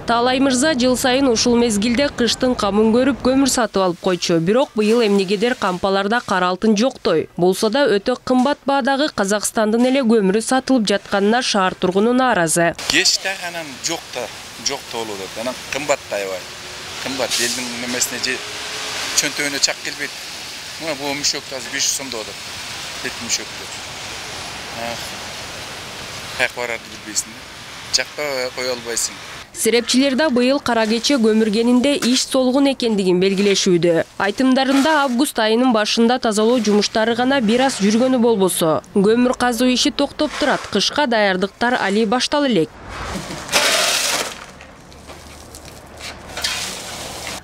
Таалай мырза жыл сайын ушул мезгилде кыштын камын көрүп көмүр сатып алып койчу. Бирок быйыл эмнегедир кампаларда кара алтын жоктой. Болсо да өтө кымбат баадагы Казакстандын эле көмүрү сатылып жатканына шаар тургуну нааразы. Кечте анан жок болуп атат. Анан кымбаттай аябай. Кымбат элдин немесине же чөнтөгүнө чак келбейт. Мына бул мүшөктү азыр 500 сомдо атат. Бет мүшөктү. Каяка барарды билбейсиң. Жакта кое албайсың. Серепчилер да быйыл кара кече көмүргенинде иш солгун экендигин белгилешүүдө. Айтымдарында август айынын башында тазалоо жумуштары гана бир аз жүргөнү болбосо, көмүр казуу иши токтоп турат. Кышка даярдыктар али баштала элек.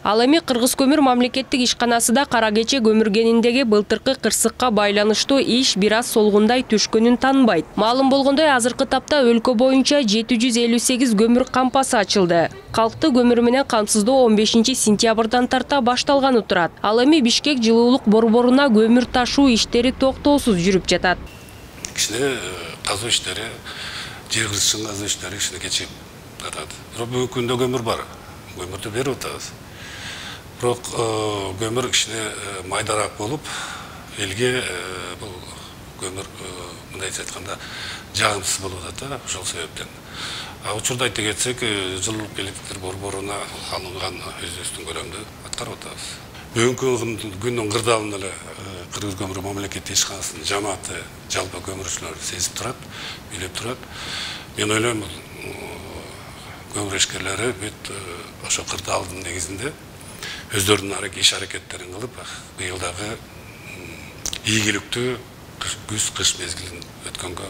Ал эми Кыргыз көмүр мамлекеттик ишканасы да кара кече көмүргениндеги былтыркы кырсыкка байланыштуу иш бир аз солгундай түшкөнүн таанбайт. Маалым болгондой, азыркы тапта өлкө боюнча 758 көмүр кампасы ачылды. Калкты көмүр менен камсыздоо 15-сентябрдан тарта башталганы турат. Ал эми Бишкек жылуулук борборуна көмүр ташуу иштери токтоосуз жүрүп жатат. Кичине казуу иштери, жер кырсыгын казуу иштери кичине кечип жатат. Бирок бүгүнкү күндө көмүр бар. Көмүрдү берип атабыз. Бирок көмүр кичине майдараак болуп, элге бул көмүр мындайча айтканда жагымсыз болуп атат да, ошол себептен. Учурда айта кетсек, жылуулук электр борборуна алынган өзүбүздүн көлөмдү аткарып атабыз. Бүгүнкү күндүн кырдаалын эле Кыргыз көмүр мамлекеттик ишканасынын жамааты, жалпы көмүрчүлөр сезип турат, билип турат. Мен ойлойм, көмүр ишкерлери бүт ошо кырдаалдын негизинде өздөрүнүн иш аракеттерин кылып, быйылдагы ийгиликтүү күз-кыш мезгилин өткөнгө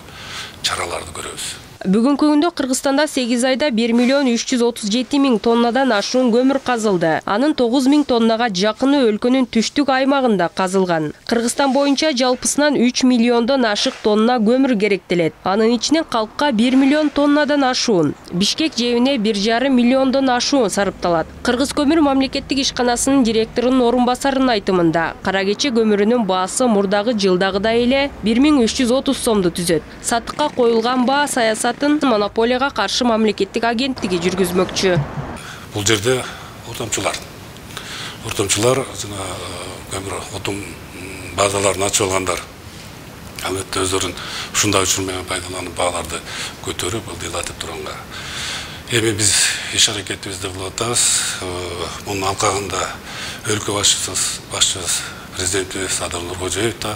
чараларды көрөбүз. Бүгүнкү күндө Кыргызстанда 8 айда 1.337.000 тоннадан ашуун көмүр казылды. Анын 9.000 тоннага жакыны өлкөнүн түштүк аймагында казылган. Кыргызстан боюнча жалпысынан 3 миллиондон ашык тонна көмүр керектелет. Анын ичинен калкка 1 миллион тоннадан ашуун, Бишкек жебине 1,5 миллиондон ашуун сарыпталат. Кыргыз көмүр мамлекеттик ишканасынын директорунун орун басарынын айтымында, кара кече көмүрүнүн баасы мурдагы жылдагыдай эле 1330 сомду түзөт. Сатыкка коюлган баа саясатын монополияга каршы мамлекеттик агенттиги жүргүзмөкчү. Бул жерде отомчулар жана көмүр отум базаларын ачып алгандар албетте өздөрүнүн ушундай учур менен пайдаланып бааларды көтөрүп, ылдыйлатып турганга. Эми биз иш аракетибизди кылып атабыз. Мунун алкагында өлкө башчыбыз президентибиз Садыр Нуркожоев да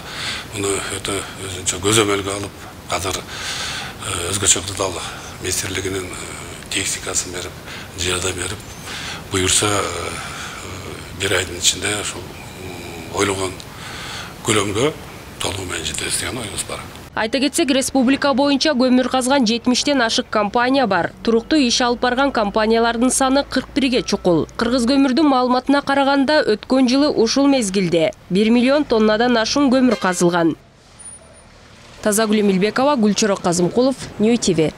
муну өтө өзүнчө көзөмөлгө алып, азыр өзгөчө кырдаал министрлигинин техникасын берип, жардам берип, буюрса бир айдын ичинде ошол ойлогон көлөмгө толугу менен жетебиз деген оюбуз бар. Айта кетсек, республика боюнча көмүр казган 70тен ашык компания бар. Туруктуу иш алып барган компаниялардын саны 41ге чукул. Кыргыз көмүрдүн маалыматына караганда, өткөн жылы ушул мезгилде 1 миллион тоннадан ашуун көмүр казылган. Тазагүл Эмилбекова, Гүлчөрөк Казымкулов, Нью ТВ.